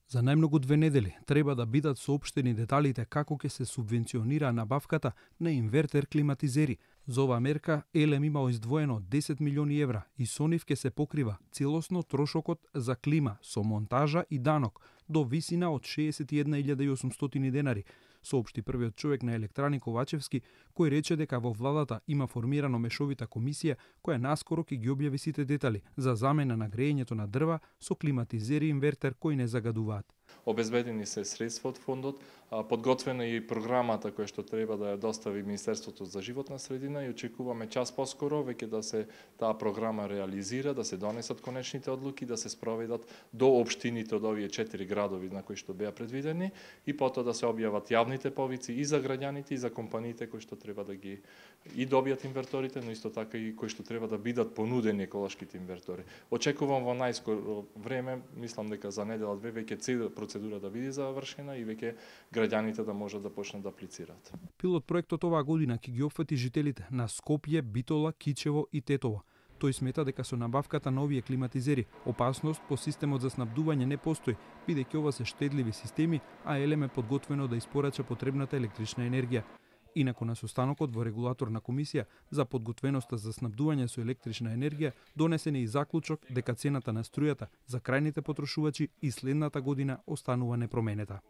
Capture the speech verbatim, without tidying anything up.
За најмногу две недели треба да бидат соопштени деталите како ќе се субвенционира набавката на инвертер климатизери. За оваа мерка Елем има издвоено десет милиони евра и со нив ќе се покрива целосно трошокот за клима со монтажа и данок до висина од шеесет и една илјада и осумстотини денари, соопшти првиот човек на Електрани Ковачевски, кој рече дека во владата има формирано мешовита комисија која наскоро ќе ги објави сите детали за замена на греењето на дрва со климатизери инвертер кои не загадуваат. Обезбедени се средства од фондот, подготвена е и програмата која што треба да ја достави Министерството за животна средина и очекуваме час поскоро веќе да се таа програма реализира, да се донесат конечните одлуки, да се спроведат до општините од овие четири градови на кои што беа предвидени и потоа да се објават јавните повици и за граѓаните и за компаниите кои што треба да ги и добијат инверторите, но исто така и кои што треба да бидат понудени еколошките инвертори. Очекувам во најскоро време, мислам дека за недела две веќе цела процедура да биде завршена и веќе граѓаните да можат да почнат да аплицираат. Пилот проектот оваа година ќе ги опфати жителите на Скопје, Битола, Кичево и Тетово. Тој смета дека со набавката на овие климатизери опасност по системот за снабдување не постои, бидејќи ова се штедливи системи, а Елем е подготвено да испорача потребната електрична енергија. Инаку на состанокот во регулаторна комисија за подготвеноста за снабдување со електрична енергија донесен е и заклучок дека цената на струјата за крајните потрошувачи и следната година останува непроменета.